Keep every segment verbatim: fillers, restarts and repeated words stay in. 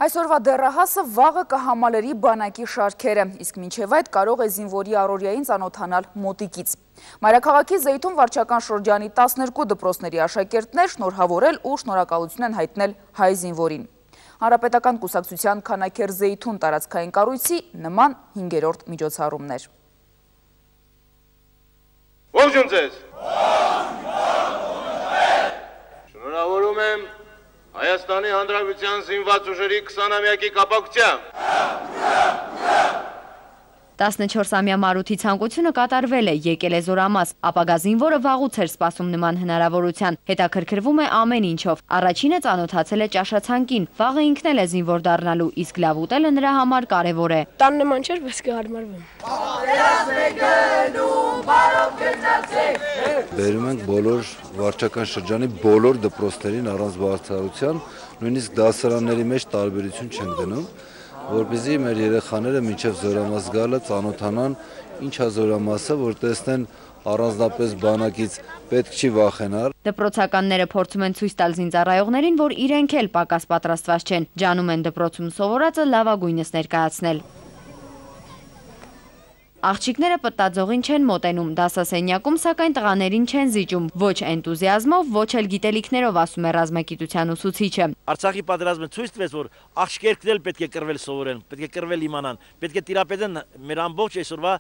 Այսօրվա դեռահասը վաղը կհամալերի բանակի շարքերը, իսկ մինչև այդ կարող է զինվորի առօրյային ծանոթանալ մոտիկից։ Մայրաքաղաքի Զեյթուն վարչական շրջանի տասներկու դպրոցների աշակերտներ շնորհավորել ու շնորհակալություն են հայտնել հայ զինվորին։ Հանրապետական կուսակցության Քանաքեր Զեյթուն տարածքային կառույցի նման հինգերորդ միջոցառումներ։ Ողջույն ձեզ։ Շնորհավորում եմ Հայաստանի Հանրապետության զինված ուժերի քսանամյակի կապակցությամբ։ տասնչորսամյա Մարութի ցանկությունը կատարվել է, եկել է զորամաս, ապագա զինվորը վաղուց էր սպասում նման հնարավորության, հետաքրքրվում է ամեն ինչով, առաջինը ծանոթացել է ճաշացանկին, վաղը ինքն էլ է զինվոր դառնալու, իսկ լավ ուտելը նրա համար կարևոր է։ Տան նման չէր, բայց կհարմարվեմ։ Բերում ենք բոլոր վարչական շրջանի բոլոր դպրոցներին առանց բարձրացության, նույնիսկ դասարանների մեջ տարբերություն չեն դնում, որպեսզի մեր երեխաները մինչև զորամաս գալը ծանոթանան ինչ է զորամասը, որ տեսնեն առանձնապես բանակից պետք չի վախենալ։ Դպրոցականները փորձում են ցույց տալ զինծառայողներին, որ իրենք էլ պակաս պատրաստված չեն, ջանում են դպրոցում սովորածը լավագույնս ներկայացնել։ Աղջիկները պտտաձողին չեն մոտենում, դասասենյակում սակայն տղաներին չեն զիջում, ոչ էնտուզիազմով, ոչ էլ գիտելիքներով, ասում է ռազմագիտության ուսուցիչը։ Արցախի պատերազմը ցույց տվեց, որ աղջիկներն էլ պետք է կռվել սովորեն, պետք է կռվել իմանան, պետք է տիրապետեն մեր ամբողջ այսօրվա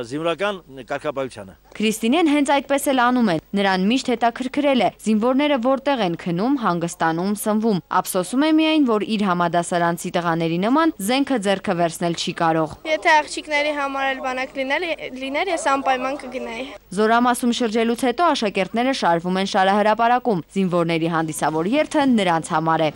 զինվորական կարգապահությանը։ Քրիստինեն հենց այդպես էլ անում է, նրան միշտ հետաքրքրել է, զինվորները որտեղ են քնում, հանգստանում, սնվում, ափսոսում է միայն, որ իր համադասարանցի տղաների նման զենքը ձեռքը վերցնել չի կարող։ Եթե աղջիկների համար բանակ լիներ, ես անպայման կգնայի։ Զորամասում շրջելուց հետո աշակերտները շարվում են շարահրապարակում, զինվորների հանդիսավոր երթը նրանց համար է։